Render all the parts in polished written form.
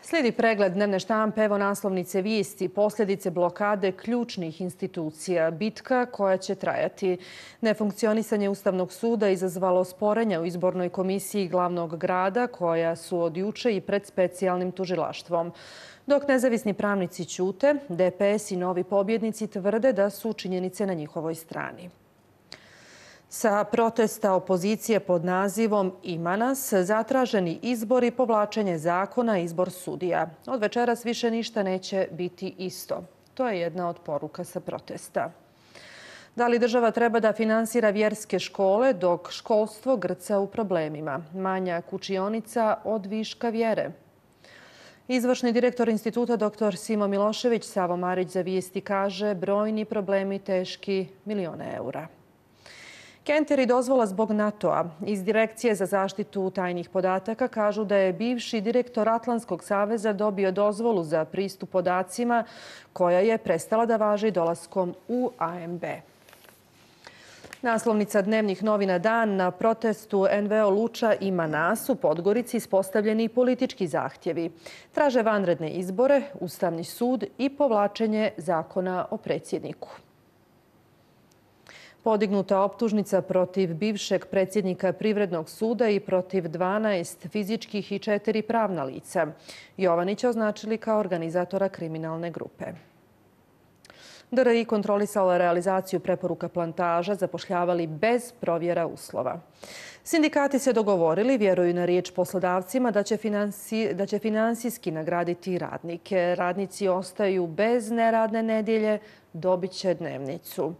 Slijedi pregled dnevne štampe, evo naslovnice vijesti, posljedice blokade ključnih institucija, bitka koja će trajati. Nefunkcionisanje Ustavnog suda izazvalo sporenja u izbornoj komisiji glavnog grada koja su od juče i pred specijalnim tužilaštvom. Dok nezavisni pravnici ćute, DPS i novi pobjednici tvrde da su činjenice na njihovoj strani. Sa protesta opozicije pod nazivom Ima nas, zatraženi izbor i povlačenje zakona, izbor sudija. Od večeras više ništa neće biti isto. To je jedna od poruka sa protesta. Da li država treba da finansira vjerske škole dok školstvo grca u problemima? Manjak učionica od viška vjere. Izvršni direktor instituta dr. Simo Milošević Savo Marić za vijesti kaže brojni problemi teški milione eura. Kenter i dozvola zbog NATO-a. Iz Direkcije za zaštitu tajnih podataka kažu da je bivši direktor Atlantskog saveza dobio dozvolu za pristup podacima koja je prestala da važi dolaskom u AMB. Naslovnica dnevnih novina Dan. Na protestu NVO Luča Ima nas u Podgorici ispostavljeni politički zahtjevi. Traže vanredne izbore, Ustavni sud i povlačenje zakona o predsjedniku. Podignuta optužnica protiv bivšeg predsjednika Privrednog suda i protiv 12 fizičkih i 4 pravna lica. Jovanića označili kao organizatora kriminalne grupe. DRI kontrolisala realizaciju preporuka plantaža, zapošljavali bez provjera uslova. Sindikati se dogovorili, vjeruju na riječ poslodavcima da će finansijski nagraditi radnike. Radnici ostaju bez neradne nedjelje, dobit će dnevnicu.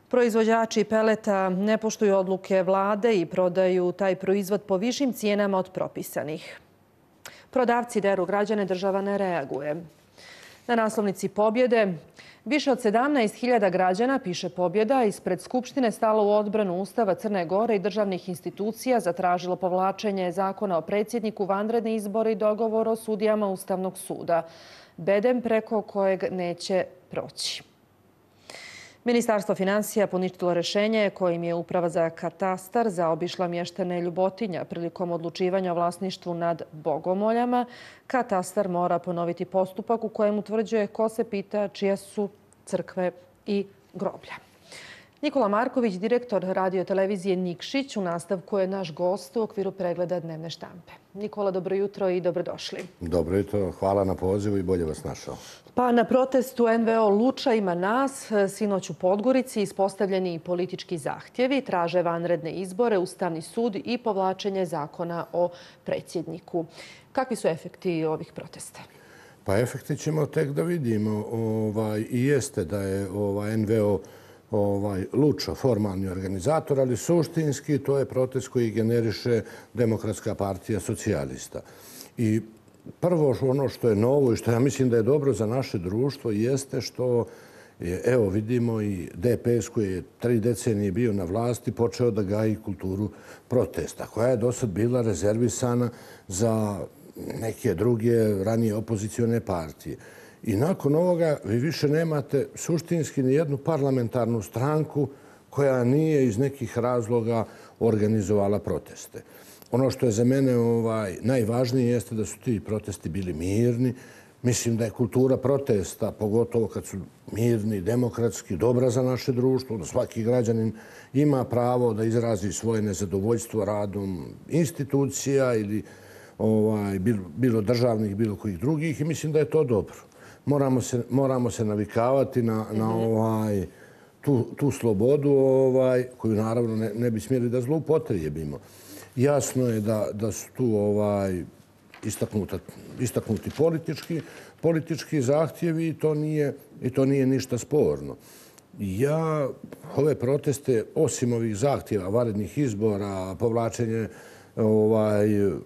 Proizvođači peleta ne poštuju odluke vlade i prodaju taj proizvod po višim cijenama od propisanih. Prodavci deru građane, država ne reaguje. Na naslovnici Pobjede više od 17.000 građana, piše Pobjeda, ispred Skupštine stalo u odbranu Ustava Crne Gore i državnih institucija, zatražilo povlačenje zakona o predsjedniku, vanredni izbori i dogovor o sudijama Ustavnog suda. Bedem preko kojeg neće proći. Ministarstvo finansija poništilo rješenje kojim je Uprava za katastar zaobišla mještane Ljubotinja prilikom odlučivanja o vlasništvu nad bogomoljama. Katastar mora ponoviti postupak u kojem utvrđuje ko se pita čije su crkve i groblja. Nikola Marković, direktor radiotelevizije Nikšić, u nastavku je naš gost u okviru pregleda dnevne štampe. Nikola, dobro jutro i dobrodošli. Dobro jutro, hvala na pozivu i bolje vas našao. Pa na protestu NVO Luča Ima nas, sinoć u Podgorici, ispostavljeni politički zahtjevi, traže vanredne izbore, Ustavni sud i povlačenje zakona o predsjedniku. Kakvi su efekti ovih protesta? Pa efekti ćemo tek da vidimo. I jeste da je NVO Luča formalni organizator, ali suštinski to je protest koji generiše Demokratska partija socijalista. I prvo ono što je novo i što ja mislim da je dobro za naše društvo jeste što je, evo vidimo, i DPS koji je 3 decenije bio na vlasti počeo da gaji kulturu protesta, koja je dosad bila rezervisana za neke druge ranije opozicione partije. I nakon ovoga vi više nemate suštinski ni jednu parlamentarnu stranku koja nije iz nekih razloga organizovala proteste. Ono što je za mene najvažnije jeste da su ti protesti bili mirni. Mislim da je kultura protesta, pogotovo kad su mirni, demokratski, dobra za naše društvo, da svaki građanin ima pravo da izrazi svoje nezadovoljstvo radom institucija ili bilo državnih, bilo kojih drugih, i mislim da je to dobro. Moramo se navikavati na tu slobodu koju naravno ne bi smjeli da zloupotrijebimo. Jasno je da su tu istaknuti politički zahtjevi i to nije ništa sporno. Ja ove proteste, osim ovih zahtjeva, vanrednih izbora, povlačenje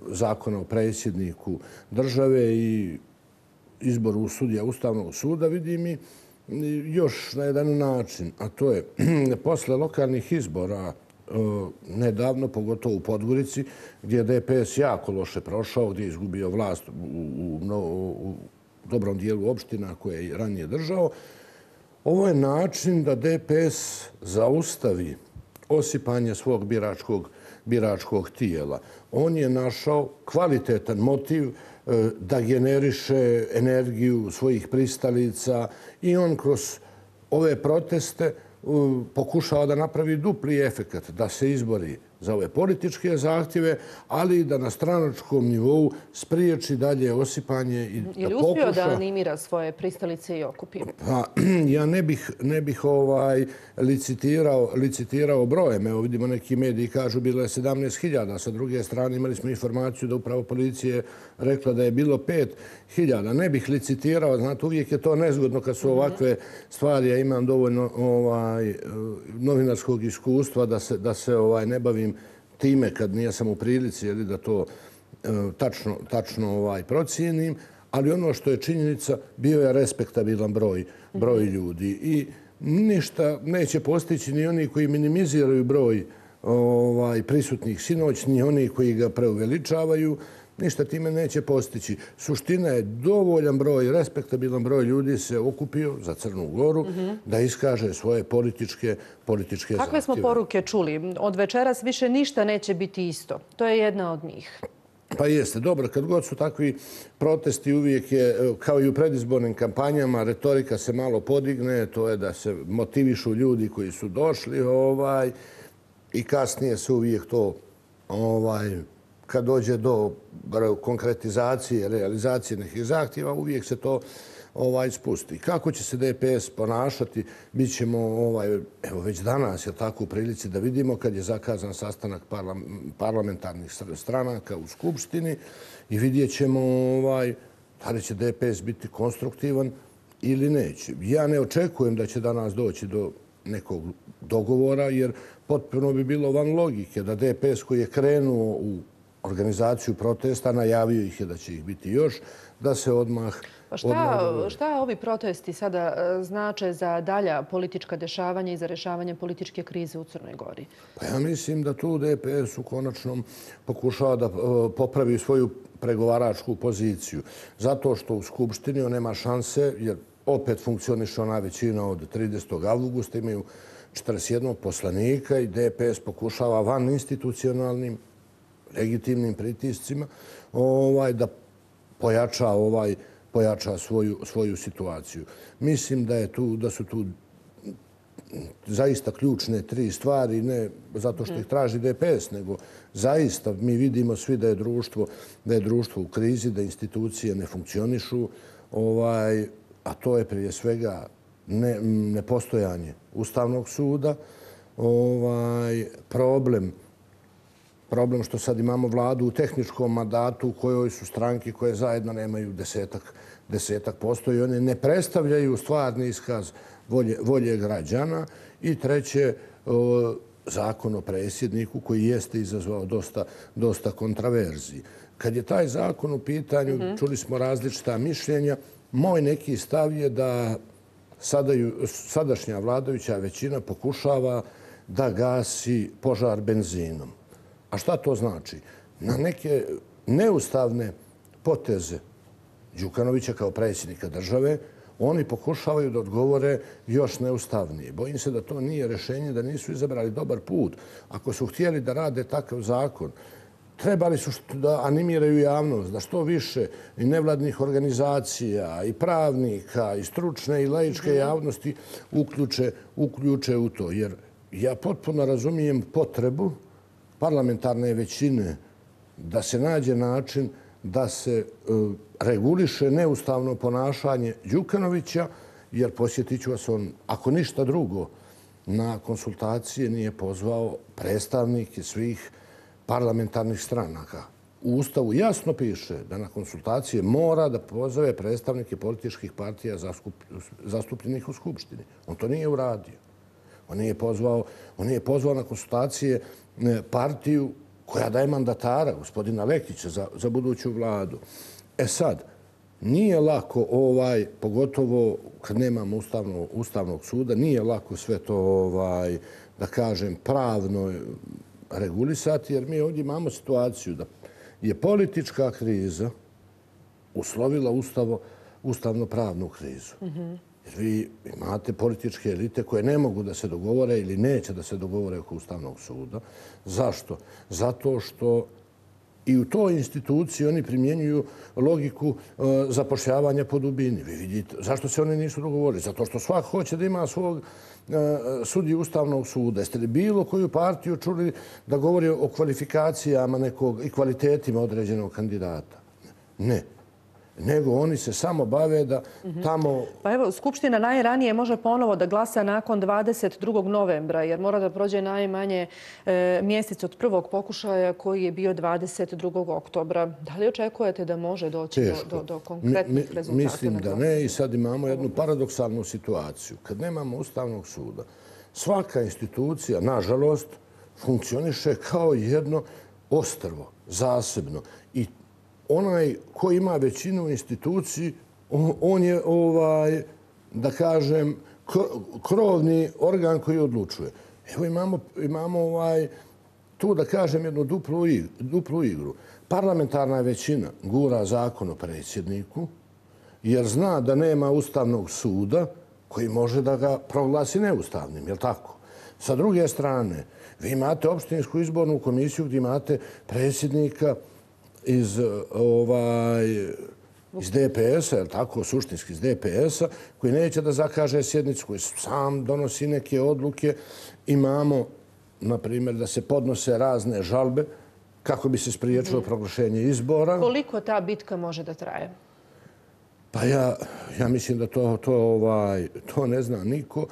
zakona o predsjedniku države i izboru sudija Ustavnog suda, vidim i još na jedan način, a to je posle lokalnih izbora nedavno, pogotovo u Podgorici, gdje je DPS jako loše prošao, gdje je izgubio vlast u dobrom dijelu opština koje je ranije držao. Ovo je način da DPS zaustavi osipanje svog biračkog tijela. On je našao kvalitetan motiv da generiše energiju svojih pristalica i on kroz ove proteste pokušava da napravi dupli efekat, da se izbori za ove političke zahtjeve, ali i da na stranačkom nivou spriječi dalje osipanje i da pokuša... Ili uspio da animira svoje pristalice i okupi? Pa, ja ne bih licitirao brojem. Evo vidimo neki mediji kažu bilo je 17.000. Sa druge strane imali smo informaciju da upravo policije rekla da je bilo 5.000. Ne bih licitirao, znate, uvijek je to nezgodno kad su ovakve stvari. Ja imam dovoljno novinarskog iskustva da se ne bavim time kad nisam u prilici da to tačno procijenim. Ali ono što je činjenica, bio je respektabilan broj ljudi. I ništa neće postići ni oni koji minimiziraju broj prisutnih sinoć, ni oni koji ga preuveličavaju. Ništa time neće postići. Suština je dovoljan broj, respektabilan broj ljudi se okupio za Crnu Goru da iskaže svoje političke zahtjeve. Kakve smo poruke čuli? Od večeras više ništa neće biti isto. To je jedna od njih. Pa jeste, dobro, kad god su takvi protesti uvijek je, kao i u predizbornim kampanjama, retorika se malo podigne, to je da se motivišu ljudi koji su došli i kasnije se uvijek to, kad dođe do konkretizacije, realizacije nekih zahtjeva, uvijek se to spusti. Kako će se DPS ponašati, bit ćemo evo već danas je tako u prilici da vidimo kad je zakazan sastanak parlamentarnih stranaka u Skupštini i vidjet ćemo da li će DPS biti konstruktivan ili neće. Ja ne očekujem da će danas doći do nekog dogovora jer potpuno bi bilo van logike da DPS koji je krenuo u organizaciju protesta, najavio ih je da će ih biti još, da se odmah... Šta ovi protesti sada znače za dalja politička dešavanja i za rješavanje političke krize u Crnoj Gori? Pa ja mislim da tu DPS u konačnom pokušava da popravi svoju pregovaračku poziciju. Zato što u Skupštini on nema šanse, jer opet funkcioniše ona većina od 30. avgusta, imaju 41 poslanika i DPS pokušava van institucionalnim legitimnim pritiscima da pojača svoju situaciju. Mislim da su tu zaista ključne tri stvari, ne zato što ih traži DPS, nego zaista mi vidimo svi da je društvo u krizi, da institucije ne funkcionišu, a to je prije svega nepostojanje Ustavnog suda, problem što sad imamo vladu u tehničkom mandatu u kojoj su stranke koje zajedno nemaju 10% i one ne predstavljaju stvarni iskaz volje građana. I treće, zakon o predsjedniku koji jeste izazvao dosta kontraverziji. Kad je taj zakon u pitanju, čuli smo različita mišljenja. Moj neki stav je da sadašnja vladajuća većina pokušava da gasi požar benzinom. A šta to znači? Na neke neustavne poteze Đukanovića kao predsjednika države oni pokušavaju da odgovore još neustavnije. Bojim se da to nije rješenje, da nisu izabrali dobar put. Ako su htjeli da rade takav zakon, trebali su da animiraju javnost, da što više i nevladnih organizacija, i pravnika, i stručne i laičke javnosti uključe u to. Jer ja potpuno razumijem potrebu parlamentarne većine da se nađe način da se reguliše neustavno ponašanje Đukanovića, jer posjetit ću vas, on, ako ništa drugo, na konsultacije nije pozvao predstavnike svih parlamentarnih stranaka. U Ustavu jasno piše da na konsultacije mora da pozove predstavnike političkih partija zastupljenih u Skupštini. On to nije uradio. On nije pozvao na konsultacije partiju koja daje mandatara, gospodina Lekića, za buduću vladu. E sad, nije lako, pogotovo kad nemamo Ustavnog suda, nije lako sve to, da kažem, pravno regulisati, jer mi ovdje imamo situaciju da je politička kriza uslovila ustavno-pravnu krizu. Jer vi imate političke elite koje ne mogu da se dogovore ili neće da se dogovore oko Ustavnog suda. Zašto? Zato što I u toj instituciji oni primjenjuju logiku zapošljavanja po dubini. Vi vidite, zašto se oni nisu dogovorili? Zato što svak hoće da ima svog sudiju Ustavnog suda. Jeste li bilo koju partiju čuli da govori o kvalifikacijama nekog i kvalitetima određenog kandidata? Ne. Nego oni se samo bave da tamo... Pa evo, Skupština najranije može ponovo da glasa nakon 22. novembra, jer mora da prođe najmanje mjesec od prvog pokušaja koji je bio 22. oktobra. Da li očekujete da može doći do konkretnih rezultata? Mislim da ne i sad imamo jednu paradoksalnu situaciju. Kad nemamo Ustavnog suda, svaka institucija, nažalost, funkcioniše kao jedno ostrvo, zasebno. I onaj ko ima većinu u instituciji, on je, da kažem, krovni organ koji odlučuje. Evo imamo tu, da kažem, jednu duplu igru. Parlamentarna većina gura zakon o predsjedniku jer zna da nema Ustavnog suda koji može da ga proglasi neustavnim, je li tako? Sa druge strane, vi imate opštinsku izbornu komisiju gdje imate predsjednika iz DPS-a, je li tako, suštinski iz DPS-a, koji neće da zakaže sjednicu, koji sam donosi neke odluke. Imamo, na primjer, da se podnose razne žalbe kako bi se spriječilo proglašenje izbora. Koliko ta bitka može da traje? Pa ja mislim da to ne zna niko.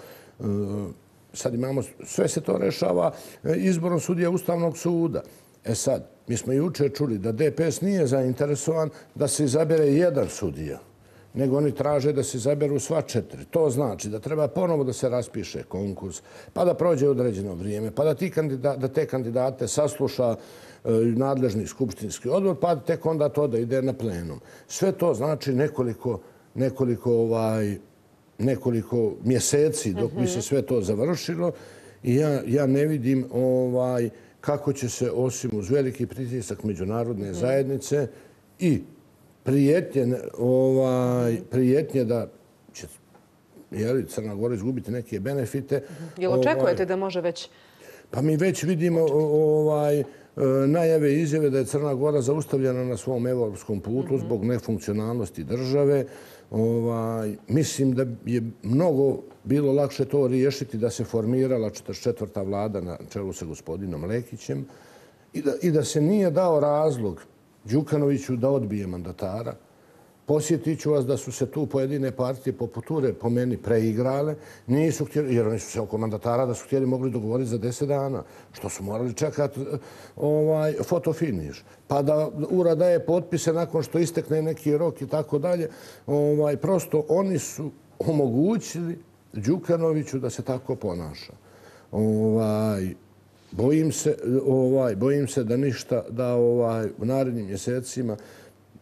Sad imamo, sve se to rešava izborom sudija Ustavnog suda. E sad, mi smo jučer čuli da DPS nije zainteresovan da se izabere jedan sudija, nego oni traže da se izaberu sva 4. To znači da treba ponovo da se raspiše konkurs, pa da prođe određeno vrijeme, pa da te kandidate sasluša nadležni skupštinski odbor, pa tek onda to da ide na plenum. Sve to znači nekoliko mjeseci dok bi se sve to završilo i ja ne vidim kako će se, osim uz veliki pritisak međunarodne zajednice i prijetnje da će Crna Gora izgubiti neke benefite. Jel očekujete da može već? Pa mi već vidimo najave i izjave da je Crna Gora zaustavljena na svom evropskom putu zbog nefunkcionalnosti države. Mislim da je mnogo bilo lakše to riješiti da se formirala 44. vlada na čelu sa gospodinom Lekićem i da se nije dao razlog Đukanoviću da odbije mandatara. Posjetit ću vas da su se tu pojedine partije poput URE po meni preigrale, nisu htjeli, jer oni su se oko mandatara da su htjeli mogli dogovoriti za 10 dana, što su morali čekati fotofiniš. Pa da URA daje potpise nakon što istekne neki rok i tako dalje. Prosto oni su omogućili Đukanoviću da se tako ponaša. Bojim se da ništa, da u narednim mjesecima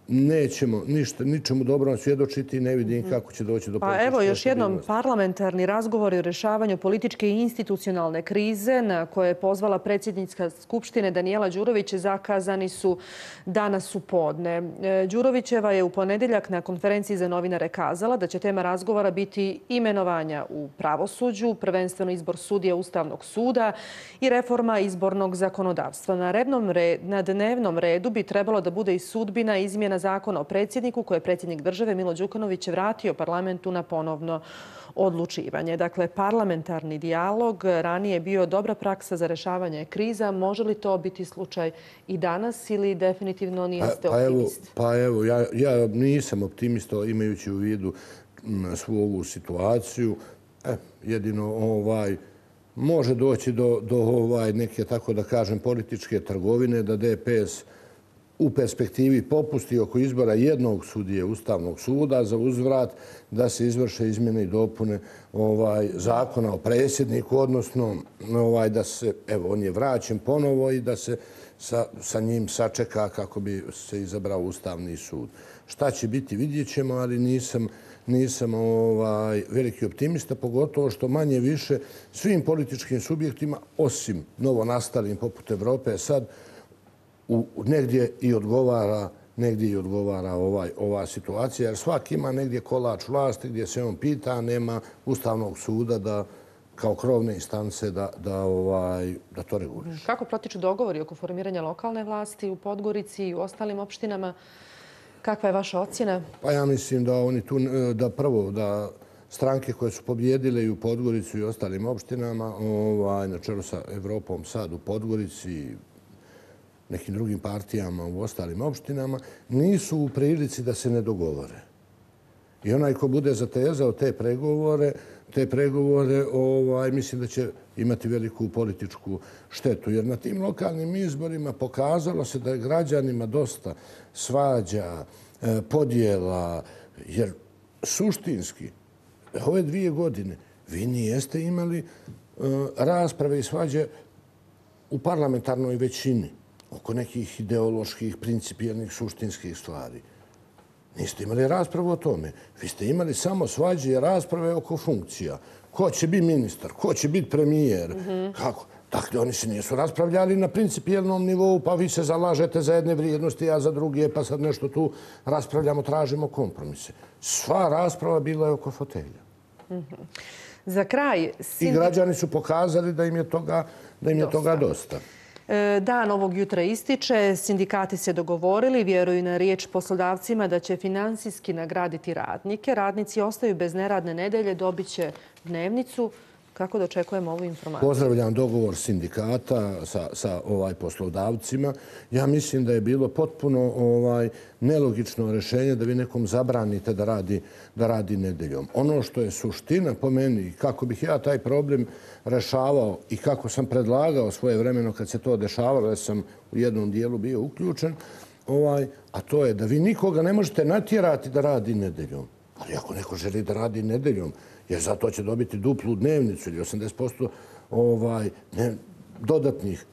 nećemo ničemu dobrom svjedočiti i ne vidim kako će doći do političke stabilnosti. Pa evo još jednom, parlamentarni razgovori o rešavanju političke i institucionalne krize na koje je pozvala predsjednica Skupštine Danijela Đurović zakazani su danas u podne. Đurovićeva je u ponedjeljak na konferenciji za novinare kazala da će tema razgovora biti imenovanja u pravosuđu, prvenstveno izbor sudija Ustavnog suda i reforma izbornog zakonodavstva. Na dnevnom redu bi trebalo da bude i sudbina izmjena zakona o predsjedniku koje je predsjednik države Milo Đukanović vratio parlamentu na ponovno odlučivanje. Dakle, parlamentarni dijalog ranije je bio dobra praksa za rešavanje kriza. Može li to biti slučaj i danas ili definitivno niste optimist? Pa evo, ja nisam optimista imajući u vidu svu ovu situaciju. Jedino može doći do neke, tako da kažem, političke trgovine, da DPS u perspektivi popusti oko izbora jednog sudije Ustavnog suda za uzvrat da se izvrše izmjene i dopune zakona o predsjedniku, odnosno da se, evo, on je vraćen ponovo i da se sa njim sačeka kako bi se izabrao Ustavni sud. Šta će biti, vidjet ćemo, ali nisam veliki optimista, pogotovo što manje više svim političkim subjektima, osim novonastalim poput Evrope, sad negdje i odgovara ova situacija, jer svak ima negdje kolač vlasti gdje se on pita, nema Ustavnog suda da kao krovne instance da to reguliše. Kako protiču dogovori oko formiranja lokalne vlasti u Podgorici i u ostalim opštinama? Kakva je vaša ocjena? Pa ja mislim da oni tu, da prvo, da stranke koje su pobjedile i u Podgorici i u ostalim opštinama, na čelu sa Evropom sad u Podgorici i nekim drugim partijama u ostalim opštinama, nisu u prilici da se ne dogovore. I onaj ko bude zatezao te pregovore, mislim da će imati veliku političku štetu. Jer na tim lokalnim izborima pokazalo se da je građanima dosta svađa, podjela, jer suštinski ove 2 godine vi nijeste imali rasprave i svađe u parlamentarnoj većini oko nekih ideoloških, principijelnih, suštinskih stvari. Niste imali raspravu o tome. Vi ste imali samo svađe i rasprave oko funkcija. Ko će biti ministar, ko će biti premijer, kako. Dakle, oni se nisu raspravljali na principijelnom nivou, pa vi se zalažete za jedne vrijednosti, ja za druge, pa sad nešto tu raspravljamo, tražimo kompromise. Sva rasprava bila je oko fotelja. Za kraj... I građani su pokazali da im je toga dosta. Dan ovog jutra ističe, sindikati se dogovorili, vjeruju na riječ poslodavcima da će finansijski nagraditi radnike. Radnici ostaju bez neradne nedelje, dobit će dnevnicu. Kako dočekujemo ovu informaciju? Pozdravljam dogovor sindikata sa poslodavcima. Ja mislim da je bilo potpuno nelogično rješenje da vi nekom zabranite da radi nedeljom. Ono što je suština po meni, kako bih ja taj problem rešavao i kako sam predlagao svoje vremeno kad se to dešavalo, jer sam u jednom dijelu bio uključen, a to je da vi nikoga ne možete natjerati da radi nedeljom. Ali ako neko želi da radi nedeljom, jer zato će dobiti duplu dnevnicu ili 80% dodatnih,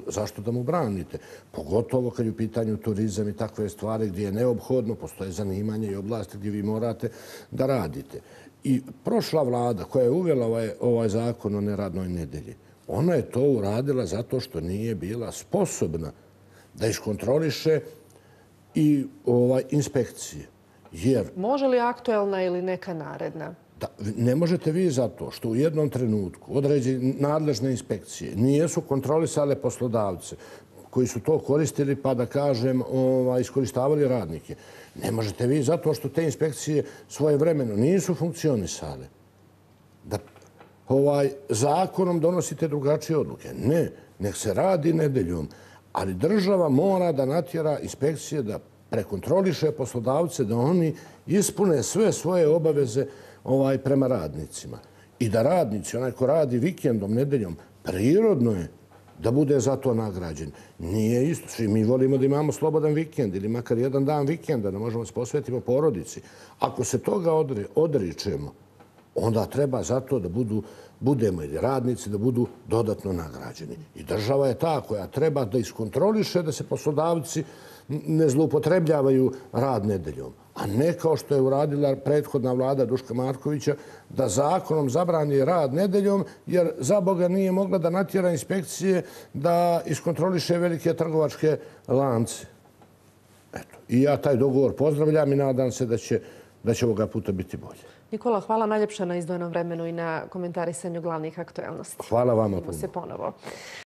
zašto da mu branite? Pogotovo kad je u pitanju turizam i takve stvari gdje je neophodno, postoje zanimanje i oblasti gdje vi morate da radite. I prošla vlada koja je uvela ovaj zakon o neradnoj nedelji, ona je to uradila zato što nije bila sposobna da iskontroliše i inspekcije. Može li aktuelna ili neka naredna? Ne možete vi zato što u jednom trenutku određene nadležne inspekcije nijesu kontrolisale poslodavce koji su to koristili, pa da kažem, iskoristavali radnike. Ne možete vi zato što te inspekcije svojevremeno nisu funkcionisale. Da zakonom donosite drugačije odluke. Ne, nek se radi nedeljom, ali država mora da natjera inspekcije da prekontroliše poslodavce, da oni ispune sve svoje obaveze prema radnicima. I da radnici, onaj ko radi vikendom, nedeljom, prirodno je da bude za to nagrađen. Nije isto. Svi mi volimo da imamo slobodan vikend ili makar jedan dan vikenda, da možemo se posvetiti porodici. Ako se toga odričemo, onda treba za to da budemo ili radnici da budu dodatno nagrađeni. I država je ta koja treba da iskontroliše da se poslodavci ne zloupotrebljavaju rad nedeljom. A ne kao što je uradila prethodna vlada Duška Markovića, da zakonom zabrani rad nedeljom, jer za Boga nije mogla da natjera inspekcije da iskontroliše velike trgovačke lance. I ja taj dogovor pozdravljam i nadam se da će ovoga puta biti bolje. Nikola, hvala najljepša na izdvojenom vremenu i na komentarisanju glavnih aktuelnosti. Hvala vama puno. Vidimo se ponovo.